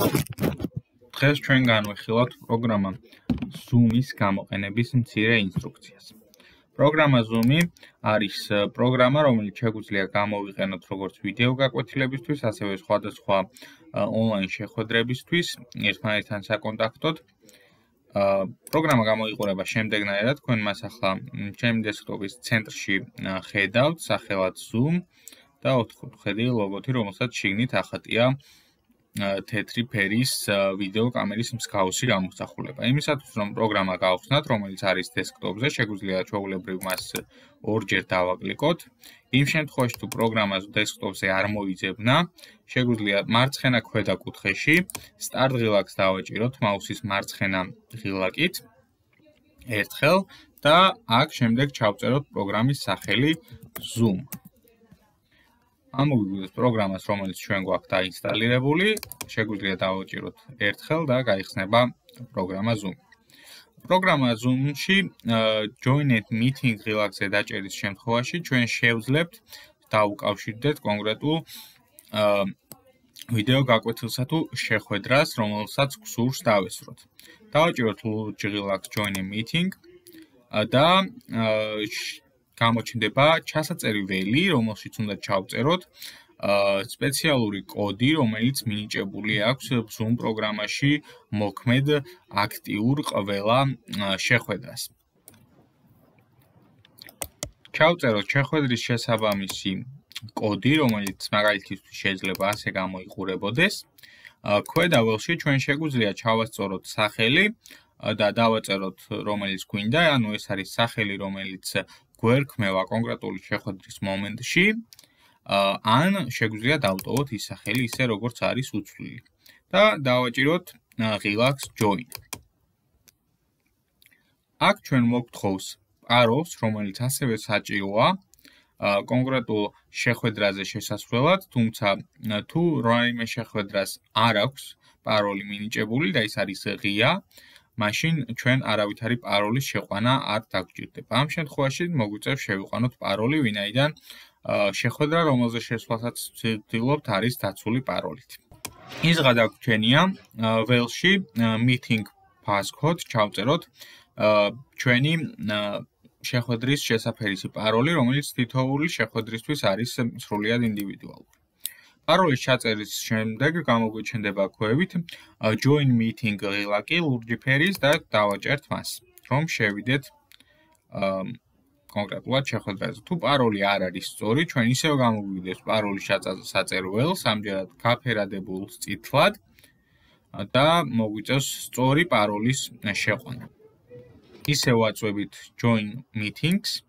დღეს ჩვენ განვიხილავთ პროგრამა Zoom-ის გამოყენების მცირე ინსტრუქციას. პროგრამა Zoom-ი არის პროგრამა, რომელიც შეგვიძლია გამოვიყენოთ როგორც ვიდეო გაკვეთილებისთვის, ასევე სხვადასხვა ონლაინ შეხვედრებისთვის, ერთმანეთთან საკონტაქტოდ. პროგრამა გამოიყურება შემდეგნაირად, თქვენ მას ახლა ჩემი დესკტოპის ცენტრში ხედავთ, სახელად Zoom და 4 ხედი ლოგოთი, რომელსაც შიგნით ახატია თეთრი ფერის ვიდეო კამერის მსგავსი გამოსახულება. იმისათვის რომ პროგრამა გავხსნათ, რომელიც არის დესკტოპზე, შეგვიძლია ჩვეულებრივ მას ორჯერ დავაკლიკოთ. იმ შემთხვევაში თუ პროგრამა დესკტოპზე არ მოიძებნა, შეგვიძლია მარცხენა ქვედა კუთხეში Start ღილაკს დავაჭიროთ მაუსის მარცხენა ღილაკით ერთხელ და აქ შემდეგ ჩავწეროთ პროგრამის სახელი Zoom. ამოვიგვიოთ პროგრამას, რომელიც ჩვენ გვაქვს დაინსტალირებული, შეგვიძლია დავაჭიროთ ერთხელ და გაიხსნება პროგრამა Zoom. პროგრამა Zoom-ში Join a Meeting ღილაკზე დაჭერის შემთხვევაში ჩვენ შევძლებთ დაუკავშირდეთ კონკრეტულ ვიდეო გაკვეთილსა თუ შეხვედრას, რომელსაც გსურს დავესწროთ. დავაჭიროთ ლურჯ ღილაკს Join a Meeting და გამოჩნდება ჩასაწერი ველი, რომელშიც უნდა ჩავწეროთ სპეციალური კოდი, რომელიც მინიჭებული აქვს Zoom პროგრამაში მოქმედ აქტიურ ყველა შეხვედრას. ჩავწეროთ შეხვედრის შესაბამისი კოდი, რომელიც მაგალითისთვის შეიძლება ასე გამოიყურებოდეს. ქვედა ველში ჩვენ შეგვიძლია ჩავასწოროთ სახელი და დავაწეროთ რომელიც გვინდა, ანუ ეს არის სახელი, რომელიც გვერქმევა კონკრეტული შეხვედრის მომენტში, ან შეგვიძლია დავტოვოთ ის სახელი ისე როგორც არის უცვლელი და დავაჭიროთ ღილაკს Join. აქ ჩვენ მოგთხოვს პაროლს, რომელიც ასევე საჭიროა კონკრეტულ შეხვედრაზე შესასვლელად, თუმცა თუ რაიმე შეხვედრას არ აქვს პაროლი მინიჭებული და ის არის ღია, მაშინ ჩვენ არავითარი პაროლის შეყვანა არ დაგვჭირდება. ამ შემთხვევაში მოგვიწევს შევიყვანოთ პაროლი, ვინაიდან შეხვედრა, რომელზე შესვლასაც ვცდილობთ, არის დაცული პაროლით. ის გადაგვჩენია ველში Meeting Passcode ჩავწეროთ ჩვენი შეხვედრის შესაფერისი პაროლი, რომელიც თითოეული შეხვედრისთვის არის სრულიად ინდივიდუალური. პაროლის ჩაწერის შემდეგ გამოგვიჩნდება ქვევით Join Meeting ღილაკი ლურჯი ფერის და დავაჭერთ მას, რომ შევიდეთ კონკრეტულად შეხვედრაზე. თუ პაროლი არ არის სწორი, ჩვენ ისევ გამოგვივიდეს პაროლის საწერო ველს, ამჯერად გაფერადებულ წითლად და მოგვიწევს სწორი პაროლის შეყვანა. ისევ ვაწვევით Join Meetings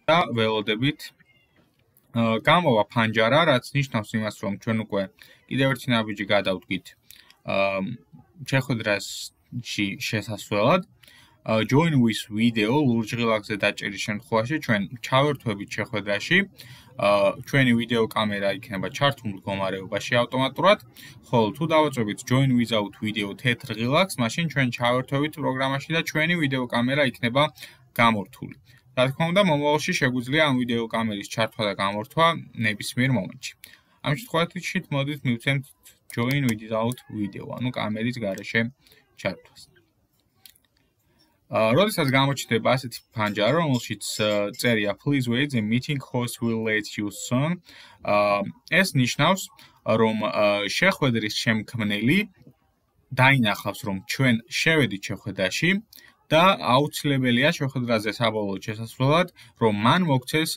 და ველოდებით გამოვა ფანჯარა, რაც ნიშნავს იმას, რომ ჩვენ უკვე კიდევ ერთი ნაბიჯი გადავდგით შეხვედრაში შესასვლელად. Join with Video ლურჯ ღილაკზე დაჭერის შემთხვევაში ჩვენ ჩავერთვებით შეხვედრაში, ჩვენი ვიდეო კამერა იქნება ჩართულ მდგომარეობაში ავტომატურად, ხოლო თუ დავაწვევით Join without Video თეთრ ღილაკს, მაშინ ჩვენ ჩავერთვებით პროგრამაში და ჩვენი ვიდეო კამერა იქნება გამორთული. რა თქმა უნდა, მომავალში შეგვიძლია ამ ვიდეო კამერის ჩართვა და გამორთვა ნებისმიერ მომენტში. ამ შემთხვევაში მოდით მივცემთ Join without Video, ანუ კამერის გარეშე ჩართვას. როდესაც გამოჩნდება ასეთი ფანჯარა, რომელშიც წერია Please wait, the meeting host will let you soon. ეს ნიშნავს, რომ შეხვედრის შემქმნელი დაინახავს, რომ ჩვენ შევედით შეხვედრაში და აუცილებელია შეხვედრაზე საბოლოოდ შესასვლელად, რომ მან მოგცეს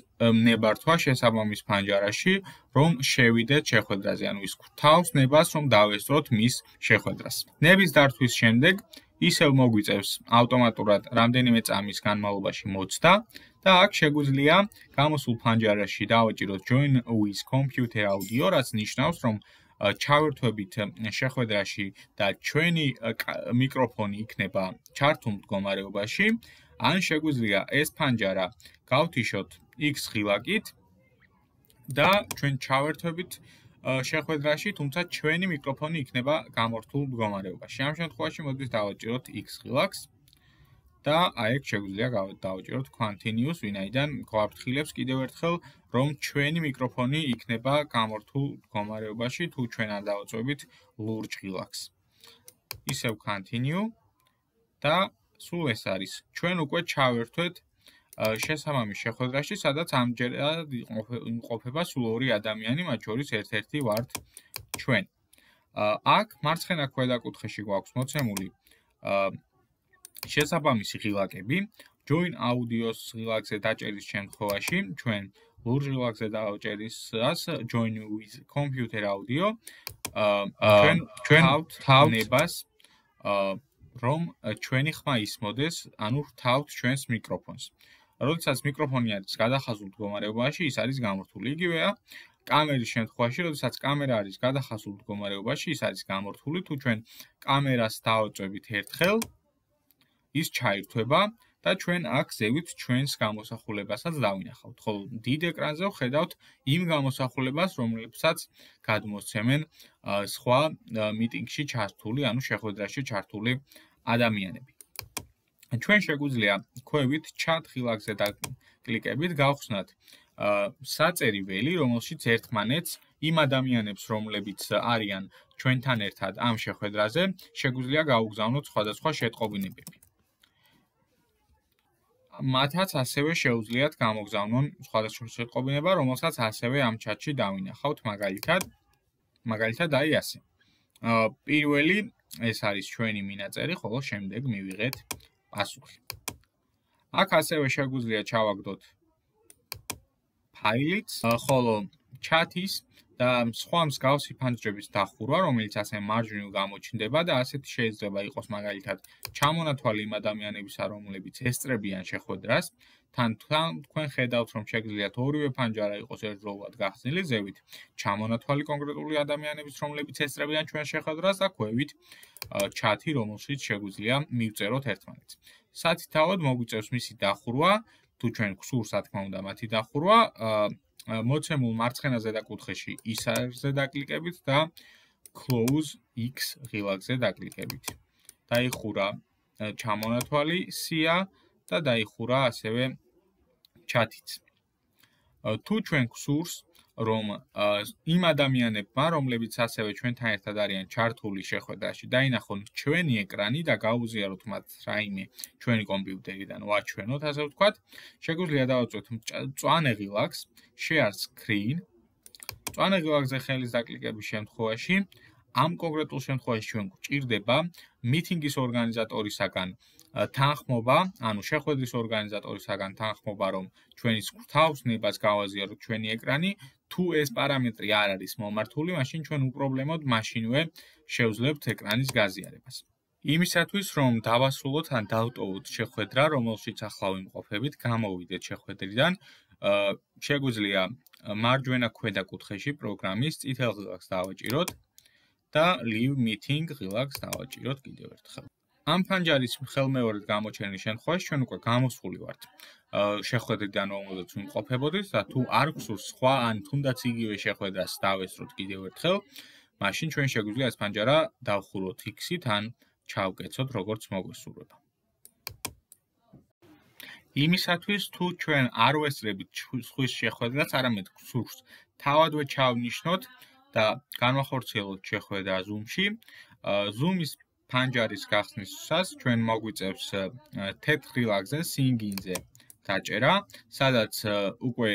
ნებართვა შესაბამის ფანჯარაში, რომ შევიდეთ შეხვედრაზე, ანუ ის გვთავს ნებას, რომ დავესწროთ მის შეხვედრას. ნების დართვის შემდეგ ისევ მოგვიწევს ავტომატურად რამდენიმე წამის განმავლობაში მოცდა და აქ შეგვიძლია გამოსულ ფანჯარაში დავაჭიროთ Join with Computer Audio, რაც ნიშნავს, რომ ჩავერთვებით შეხვედრაში და ჩვენი მიკროფონი იქნება ჩართულ მდგომარეობაში, ან შეგვიძლია ეს ფანჯარა გავთიშოთ X ღილაკით და ჩვენ ჩავერთვებით შეხვედრაში, თუმცა ჩვენი მიკროფონი იქნება გამორთულ მდგომარეობაში. ამ შემთხვევაში მოდით დავაჭიროთ X ღილაკს და აი ეგ შეგვიძლია დავაჭიროთ continuous, ვინაიდან გვაფრთხილებს კიდევ ერთხელ, რომ ჩვენი მიკროფონი იქნება გამორთულ მდგომარეობაში, თუ ჩვენ არ დავაწვევით ლურჯ ღილაკს. ისევ continue და სულ ეს არის. ჩვენ უკვე ჩავერთვეთ შესაბამის შეხვედრაში, სადაც ამჯერად იმყოფება სულ ორი ადამიანი, მათ შორის ერთ-ერთი ვართ ჩვენ. აქ მარცხენა ქვედაკუთხეში გვაქვს მოცემული შესაბამისი ღილაკები. Join audio-ს ღილაკზე დაჭერის შემთხვევაში, ჩვენ ლურჯ ღილაკზე დავაჭერისას join with computer audio ჩვენ თავთ ნებას რომ ჩვენი ხმა ისმოდეს, ანუ თავთ ჩვენს მიკროფონს. როდესაც მიკროფონი არის გადახაზულ მდგომარეობაში, ის არის გამორთული. იგივეა კამერის შემთხვევაში, როდესაც კამერა არის გადახაზულ მდგომარეობაში, ის არის გამორთული. თუ ჩვენ კამერას დავაწვევით ერთხელ, ის ჩაირთვება და ჩვენ აქ ზევით ჩვენს გამოსახულებასაც დავინახავთ. ხოლო დიდ ეკრანზე ვხედავთ იმ გამოსახულებას, რომლებსაც გადმოსცემენ სხვა მიტინგში ჩართული, ანუ შეხვედრაში ჩართული ადამიანები. ჩვენ შეგვიძლია ქვევით chat ღილაკზე დაკლიკებით გავხსნათ საწერი ველი, რომელშიც ერთმანეთს იმ ადამიანებს, რომლებიც არიან ჩვენთან ერთად ამ შეხვედრაზე, შეგვიძლია გაუგზავნოთ სხვადასხვა შეტყობინებები. მათაც ასევე შეუძლიათ გამოგზავნონ სხვადასხვა შეტყობინება, რომელსაც ასევე ამ chat-ში დავინახავთ, მაგალითად აი ასე. პირველი ეს არის ჩვენი მინაწერი, ხოლო შემდეგ მივიღეთ პასუხი. აქ ასევე შეგვიძლია ჩავაგდოთ ფაილიც, ხოლო chat-ის და სხვა მსგავსი ფანჯრების დახურვა, რომელიც ასე მარჯვნივ გამოჩნდება და ასეთი შეიძლება იყოს მაგალითად ჩამონათვალი იმ ადამიანებისა, რომლებიც ესწრებიან შეხვედრას, თან თქვენ ხედავთ, რომ შეგიძლიათ ორივე ფანჯარა იყოს ერთდროულად გახსნილი ზევით, ჩამონათვალი კონკრეტული ადამიანების, რომლებიც ესწრებიან ჩვენ შეხვედრას და ქვევით chat-ი, რომელშიც შეგვიძლია მივწეროთ ერთმანეთს. სათითაოდ მოგვიწევს მისი დახურვა, თუ ჩვენ გსურს, რა თქმა უნდა, მათი დახურვა, მოცემულ მარცხენა ზედაკუთხეში ისარზე დაკლიკებით და close X ღილაკზე დაკლიკებით. დაიხურა ჩამონათვალი სია და დაიხურა ასევე chat-იც. თუ ჩვენ გსურს, რომ იმ ადამიანებმა, რომლებიც ასევე ჩვენთან ერთად არიან ჩართული შეხვედრაში, დაინახონ ჩვენი ეკრანი და გაუზიაროთ მათ რაიმე ჩვენი კომპიუტერიდან ვაჩვენოთ, ასე ვთქვათ, შეგვიძლია დავაწვევთ მწვანე ღილაკს, share screen. მწვანე ღილაკზე ხელის დაკლიკების შემთხვევაში, ამ კონკრეტულ შემთხვევაში ჩვენ გვჭირდება მიტინგის ორგანიზატორისაგან თანხმობა, ანუ შეხვედრის ორგანიზატორისაგან თანხმობა, რომ ჩვენის თავს ნებას გავაზიაროთ ჩვენი ეკრანი. თუ ეს პარამეტრი არ არის მომართული, მაშინ ჩვენ უპრობლემოდ მაშინვე შევძლებთ ეკრანის გაზიარებას. იმისათვის, რომ დავასრულოთ ან დავტოვოთ შეხვედრა, რომელშიც ახლა ვიმყოფებით, გამოვიდეთ შეხვედრიდან, შეგვიძლია მარჯვენა ქვედა კუთხეში პროგრამის წითელ ღილაკს დავაჭიროთ და leave meeting ღილაკს დავაჭიროთ კიდევ ერთხელ. ამ ფანჯარის ხელმეორედ გამოჩენის შემთხვევაში ჩვენ უკვე გამოსული ვართ შეხვედრიდან, რომელზეც ვიმყოფებოდით და თუ არ გსურს სხვა ან თუნდაც იგივე შეხვედრას დავესწროთ კიდევ ერთხელ, მაშინ ჩვენ შეგვიძლია ეს ფანჯარა დავხუროთ X-ით ან ჩავკეცოთ როგორც მოგვესურვება. იმისათვის, თუ ჩვენ არ ვესწრებით სხვის შეხვედრას, არამედ გსურს თავადვე ჩავნიშნოთ და განვახორციელოთ შეხვედრა Zoom-ში, Zoom-ის ფანჯარის გახსნისას ჩვენ მოგვიწევს თეთრ ღილაკზე Sign-in-ზე დაჭერა, სადაც უკვე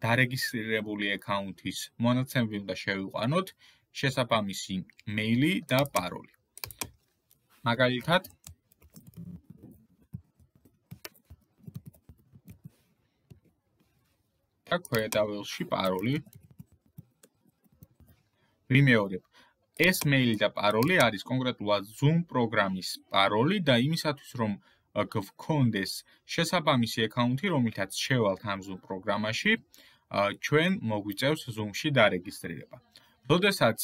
დარეგისტრირებული აკაუნთის მონაცემები უნდა შევიყვანოთ, შესაბამისი მეილი და პაროლი. მაგალითად, და ქვედა ველში პაროლი ვიმეორებ. ეს მეილი და პაროლი არის კონკრეტულად Zoom პროგრამის პაროლი და იმისათვის, რომ გქონდეს შესაბამისი აკაუნთი, რომელთაც შევალთ ამ Zoom პროგრამაში, ჩვენ მოგვიწევს Zoom-ში დარეგისტრირება. როდესაც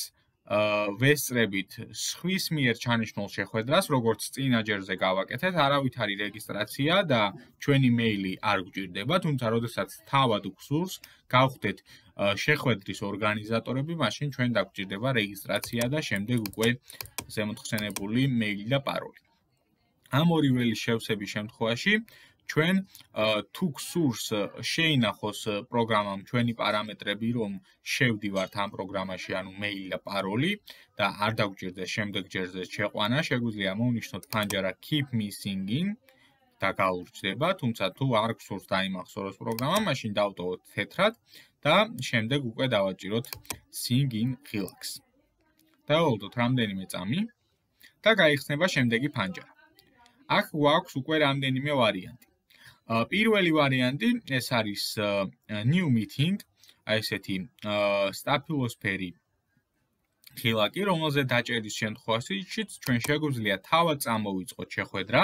ვესწრებით სხვის მიერ ჩანიშნულ შეხვედრას, როგორც წინა ჯერზე გავაკეთეთ, არავითარი რეგისტრაცია და ჩვენი მეილი არ გვჭირდება, თუმცა როდესაც თავად გსურს, გავხდეთ შეხვედრის ორგანიზატორები, მაშინ ჩვენ დაგვჭირდება რეგისტრაცია და შემდეგ უკვე ზემოთხსენებული მეილი და პაროლი. ამ ორი ველის შევსების შემთხვევაში ჩვენ თუ გსურს შეინახოს პროგრამამ ჩვენი პარამეტრები, რომ შევდივართ ამ პროგრამაში, ანუ მეილი და პაროლი და არ დაგვჭირდეს შემდეგ ჯერზე შეყვანა, შეგვიძლია მოვნიშნოთ ფანჯარა keep me singing და გაურჩდება, თუმცა თუ არ გსურს დაიმახსოვროს პროგრამა, მაშინ დავტოვოთ თეთრად და შემდეგ უკვე დავაჭიროთ sing in relax. დავავალოთ რამდენიმე წამი და გაიხსნება შემდეგი ფანჯარა. აქ გვაქვს უკვე რამდენიმე ვარიანტი. პირველი ვარიანტი ეს არის new meeting, აი ესეთი სტაფილოსფერი ხილაკი, რომელზე დაჭერის შემთხვევაშიც ჩვენ შეგვიძლია თავად წამოვიწყოთ შეხვედრა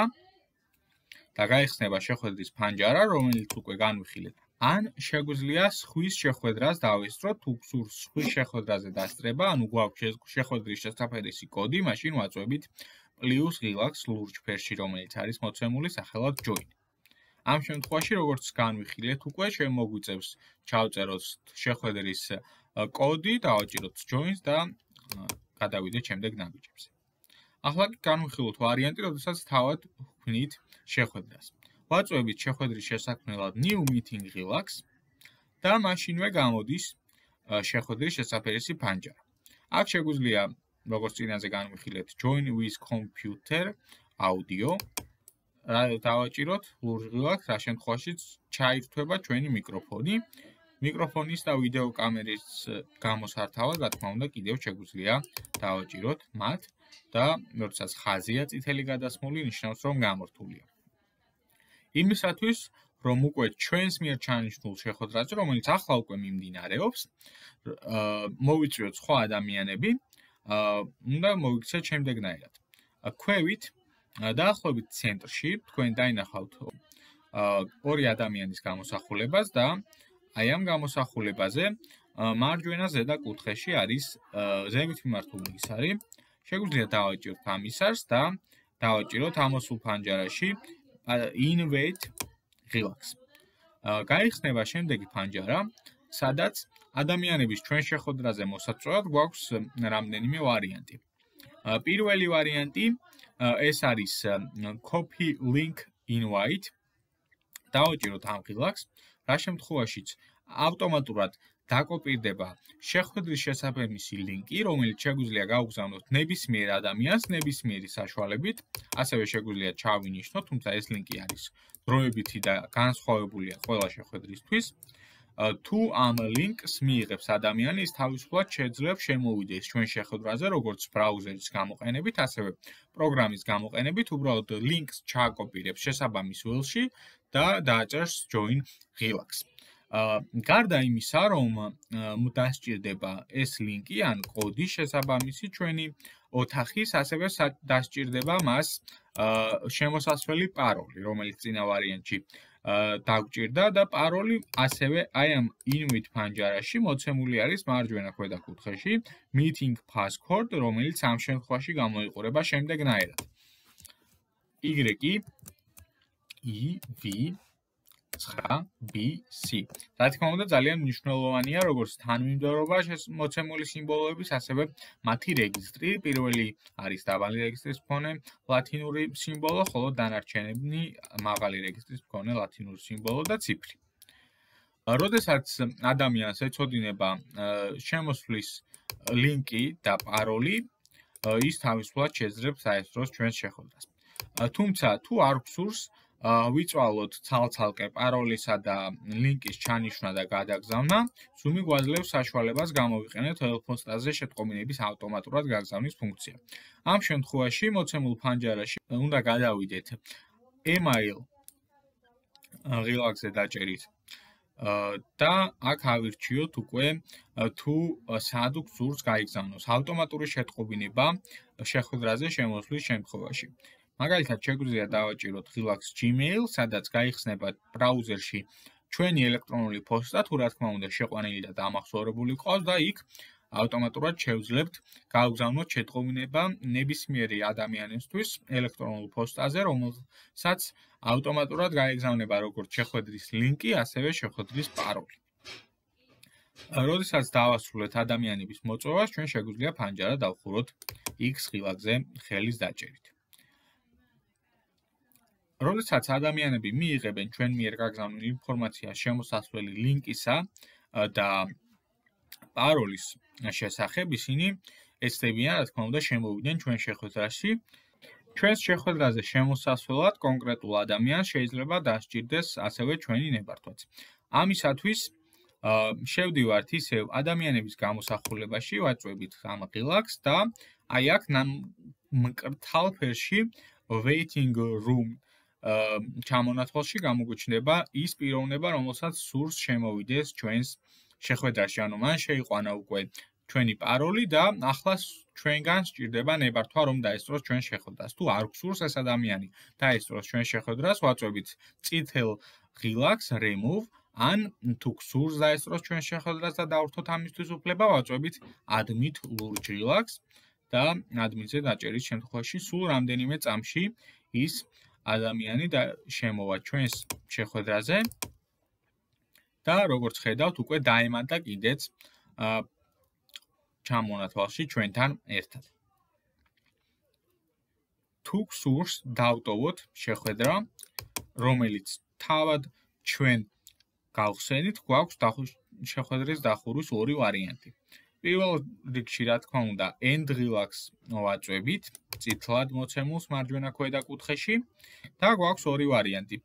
და გაიხსნება შეხვედრის ფანჯარა, რომელიც უკვე განვიხილეთ. ან შეგვიძლია სხვის შეხვედრას დავესწროთ, თუ გსურს სხვის შეხვედრაზე დასწრება, ანუ გვაქვს შეხვედრის შესაფერისი კოდი, მაშინ ვაწვევით +relax ლურჯ ფერში, რომელიც არის მოცემული სახელად join. ამ შემთხვევაში, როგორც განვიხილეთ, უკვე შემოგვიწევს ჩავწეროთ შეხვედრის კოდი, დავაჭიროთ joins და გადავიდეთ შემდეგ ნაბიჯებზე. ახლა კი განვიხილოთ ვარიანტი, როდესაც თავად ვქმნით შეხვედრას. ვაწვევით შეხვედრის შესაქმნელად new meeting relax და მაშინვე გამოდის შეხვედრის შესაფერისი ფანჯარა. აქ შეგვიძლია, როგორც წინაზე განვიხილეთ, join with computer audio დავაჭიროთ ლურჯ relax, რა შემთხვევაშიც ჩაირთვება ჩვენი მიკროფონი. მიკროფონის და ვიდეო კამერის გამოსართავად, რა თქმა უნდა, კიდევ შეგვიძლია დავაჭიროთ მათ და როდესაც ხაზია წითელი გადასმული, ნიშნავს, რომ გამორთულია. იმისათვის, რომ უკვე ჩვენს მიერ ჩანიშნულ შეხვედრაზე, რომელიც ახლა უკვე მიმდინარეობს, მოვიწვიოთ სხვა ადამიანები, უნდა მოვიქცეთ შემდეგნაირად. ქვევით დაახლოებით ცენტრში თქვენ დაინახავთ ორი ადამიანის გამოსახულებას და აი ამ გამოსახულებაზე მარჯვენა ზედა კუთხეში არის ზევით მიმართული ისარი. შეგვიძლია დავაჭიროთ ამ ისარს და დავაჭიროთ ამოსულ ფანჯარაში invite relax. გაიხსნება შემდეგი ფანჯარა, სადაც ადამიანების ჩვენ შეხვედრაზე მოსაწვევად გვაქვს რამდენიმე ვარიანტი. პირველი ვარიანტი ეს არის copy link invite. დავაჭიროთ ამ relax, რა შემთხვევაშიც ავტომატურად დაკოპირდება შეხვედრის შესაბამისი ლინკი, რომელიც შეგვიძლია გავგზავნოთ ნებისმიერ ადამიანს ნებისმიერი საშუალებით, ასევე შეგვიძლია ჩავინიშნოთ, თუმცა ეს ლინკი არის დროებითი და განსხვავებულია ყველა შეხვედრისთვის. თუ ამ ლინკს მიიღებს ადამიანი, ის თავისუფლად შეძლებს შემოვიდეს ჩვენ შეხვედრაზე, როგორც ბრაუზერის გამოყენებით, ასევე პროგრამის გამოყენებით, უბრალოდ ლინკს ჩააკოპირებს შესაბამის ველში და დააჭერს join relax. გარდა იმისა, რომ დასჭირდება ეს ლინკი ან კოდი შესაბამისი ჩვენი ოთახის, ასევე დასჭირდება მას შემოსასვლელი პაროლი, რომელიც წინა ვარიანტში დაგვჭირდა და პაროლი ასევე აი ამ invite ფანჯარაში მოცემული არის მარჯვენა ქვედა კუთხეში meeting passcode, რომელიც ამ შემთხვევაში გამოიყურება შემდეგნაირად. YEV9BC. რა თქმა უნდა, ძალიან მნიშვნელოვანია როგორც თანმიმდევრობა მოცემული სიმბოლოების, ასევე მათი რეგისტრი. პირველი არის დაბალი რეგისტრის მქონე ლათინური სიმბოლო, ხოლო დანარჩენები მაღალი რეგისტრის მქონე ლათინური სიმბოლო და ციფრი. როდესაც ადამიანს ეწოდინება შემოსვლის ლინკი და პაროლი, ის თავისუფლად შეძლებს აესწროს ჩვენს შეხვედრას. თუმცა თუ არ გსურს ვიწვალოთ ცალ-ცალკე პაროლისა და ლინკის ჩანიშვნა და გადაგზავნა, Zoom-ი გვაძლევს საშუალებას გამოვიყენოთ ტელეფონსტაზე შეტყობინების ავტომატურად გაგზავნის ფუნქცია. ამ შემთხვევაში მოცემულ ფანჯარაში უნდა გადავიდეთ email relax-ზე დაჭერით და აქ ავირჩიოთ უკვე თუ სად გსურს გაიგზავნოს ავტომატური შეტყობინება შეხვედრაზე შემოსვლის შემთხვევაში. მაგალითად, შეგვიძლია დავაჭიროთ relax Gmail, სადაც გაიხსნება ბრაუზერში ჩვენი ელექტრონული პოსტა, თუ რა თქმა უნდა შეყვანილი და დამახსოვრებული ყავს და იქ ავტომატურად შევძლებთ გავგზავნოთ შეტყობინება ნებისმიერი ადამიანისთვის ელექტრონულ პოსტაზე, რომელსაც ავტომატურად გაეგზავნება როგორც შეხვედრის ლინკი, ასევე შეხვედრის პაროლი. როდესაც დავასრულეთ ადამიანების მოწვევას, ჩვენ შეგვიძლია ფანჯარა დავხუროთ X relax-ზე ხელის დაჭერით. როდესაც ადამიანები მიიღებენ ჩვენ მიერ გაგზავნილ ინფორმაციას შემოსასვლელი ლინკისა და პაროლის შესახებ, ისინი ეცდებიან, რა თქმა უნდა, შემოვიდნენ ჩვენ შეხვედრაში. ჩვენს შეხვედრაზე შემოსასვლელად კონკრეტულ ადამიანს შეიძლება დასჭირდეს ასევე ჩვენი ნებართვაც. ამისათვის შევდივართ ისევ ადამიანების გამოსახულებაში, ვაწვევით ამ ღილაკს და აი აქ მკრთალ ფერში waiting room ჩამონათვალში გამოგვიჩნდება ის პიროვნება, რომელსაც სურს შემოვიდეს ჩვენს შეხვედრაში, ანუ მან შეიყვანა უკვე ჩვენი პაროლი და ახლა ჩვენგან სჭირდება ნებართვა, რომ დაესწროს ჩვენ შეხვედრას. თუ არ გსურს ეს ადამიანი დაესწროს ჩვენ შეხვედრას, ვაწვევით წითელ ღილაკს remove, ან თუ გსურს დაესწროს ჩვენ შეხვედრას და დავრთოთ ამისთვის უფლება, ვაწვევით admit ლურჯ ღილაკს და admin-ზე დაჭერის შემთხვევაში სულ რამდენიმე წამში ის ადამიანი და შემოვა ჩვენს შეხვედრაზე და როგორც ხედავთ, უკვე დაემატა კიდეც ჩამონათვალში ჩვენთან ერთად. თუ გსურს დავტოვოთ შეხვედრა, რომელიც თავად ჩვენ გავხსენით, გვაქვს შეხვედრის დახურვის ორი ვარიანტი. პირველ რიგში, რა თქმა უნდა, end ღილაკს ვაწვევით, წითლად მოცემულს მარჯვენა ქვედა კუთხეში და გვაქვს ორი ვარიანტი.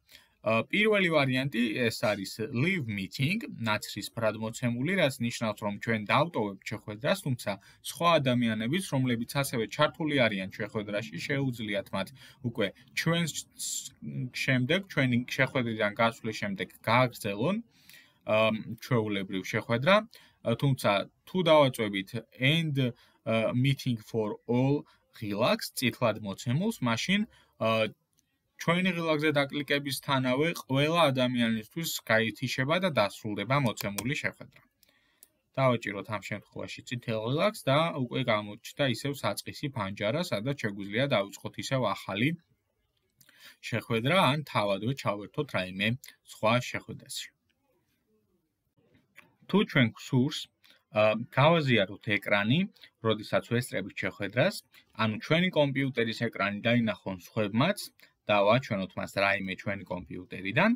პირველი ვარიანტი ეს არის leave meeting, ნაცრისფრად მოცემული, რაც ნიშნავს, რომ ჩვენ დავტოვებთ შეხვედრას, თუმცა სხვა ადამიანებიც, რომლებიც ასევე ჩართული არიან შეხვედრაში, შეუძლიათ მათ უკვე ჩვენს შემდეგ, ჩვენი შეხვედრიდან გასვლის შემდეგ გააგრძელონ ჩვეულებრივ შეხვედრა, თუმცა თუ დავაწვევით end meeting for all ღილაკს, წითლად მოცემულს, მაშინ ჩვენი ღილაკზე დაკლიკებისთანავე ყველა ადამიანისთვის გაითიშება და დასრულდება მოცემული შეხვედრა. დავაჭიროთ ამ შემთხვევაში წითელ ღილაკს და უკვე გამოჩნდა ისევ საწყისი ფანჯარა, სადაც შეგვიძლია დავიწყოთ ისევ ახალი შეხვედრა, ან თავადვე ჩავერთოთ რაიმე სხვა შეხვედრაში. თუ ჩვენ გსურს გავაზიაროთ ეკრანი, როდესაც ვესწრებით შეხვედრას, ანუ ჩვენი კომპიუტერის ეკრანი დაინახონ სხვებმაც და ვაჩვენოთ მას რაიმე ჩვენი კომპიუტერიდან,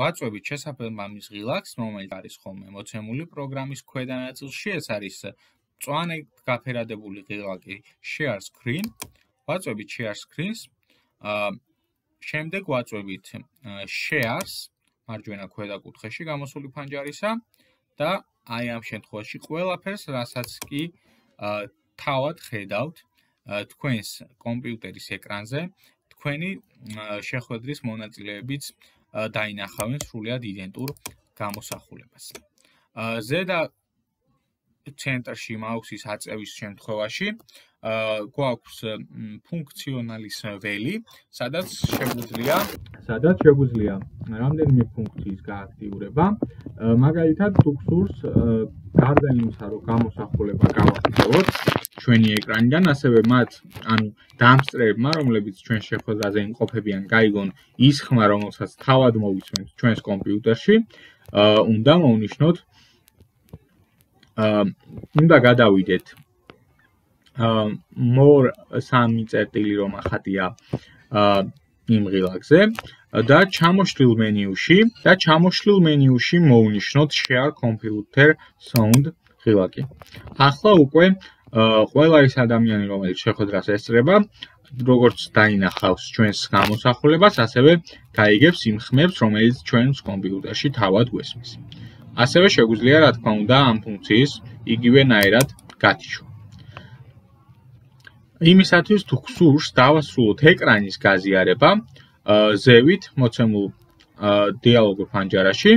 ვაწვევით შესაბამის ღილაკს, რომელიც არის ხოლმე მოცემული პროგრამის ქვედა ნაწილში, ეს არის მწვანე გაფერადებული ღილაკი share screen, ვაწვევით share screens, შემდეგ ვაწვევით shares მარჯვენა ქვედა კუთხეში გამოსული ფანჯარისა და აი ამ შემთხვევაში ყველაფერს, რასაც კი თავად ხედავთ თქვენს კომპიუტერის ეკრანზე, თქვენი შეხვედრის მონაწილეებიც დაინახავენ სრულად იდენტურ გამოსახულებას. ზედა ცენტრში მაუსის აწევის შემთხვევაში გვაქვს ფუნქციონალის ველი, სადაც შეგვიძლია რამდენიმე ფუნქციის გააქტიურება. მაგალითად, თუ გსურს გარდა იმისა, რომ გამოსახულება გავახსოვოთ ჩვენი ეკრანიდან, ასევე მათ, ანუ დამსწრეებმა, რომლებიც ჩვენ შეხვედრაზე იმყოფებიან, გაიგონ ის ხმა, რომელსაც თავად მოვიცვენთ ჩვენს კომპიუტერში, უნდა მოვნიშნოთ უნდა გადავიდეთ more 3 წერტილი რომ ახატია იმ ღილაკზე და ჩამოშლილ მენიუში მოვნიშნოთ share computer sound ღილაკი. ახლა უკვე ყველა ის ადამიანი, რომელიც შეხვედრას ესწრება, როგორც დაინახავს ჩვენს გამოსახულებას, ასევე გაიგებს იმ ხმებს, რომელიც ჩვენს კომპიუტერში თავად გვესმის. ასევე შეგვიძლია, რა თქმა უნდა, ამ ფუნქციის იგივენაირად გათიშვა. იმისათვის თუ გსურს დავასრულოთ ეკრანის გაზიარება, ზევით მოცემულ დიალოგურ ფანჯარაში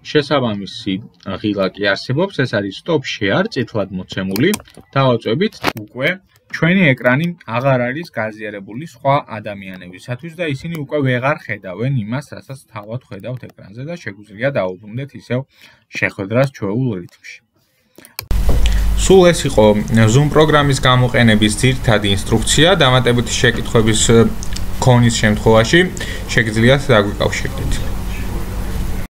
შესაბამისი ღილაკი არსებობს, ეს არის stop share, წითლად მოცემული, დავაწვევით უკვე ჩვენი ეკრანი აღარ არის გაზიარებული სხვა ადამიანებისათვის და ისინი უკვე ვეღარ ხედავენ იმას, რასაც თავად ხედავთ ეკრანზე და შეგვიძლია დაუბრუნდეთ ისევ შეხვედრას ჩვეულ რითმში. სულ ეს იყო Zoom პროგრამის გამოყენების ძირითადი ინსტრუქცია, დამატებითი შეკითხვების ქონის შემთხვევაში შეგიძლიათ დაგვიკავშირდეთ.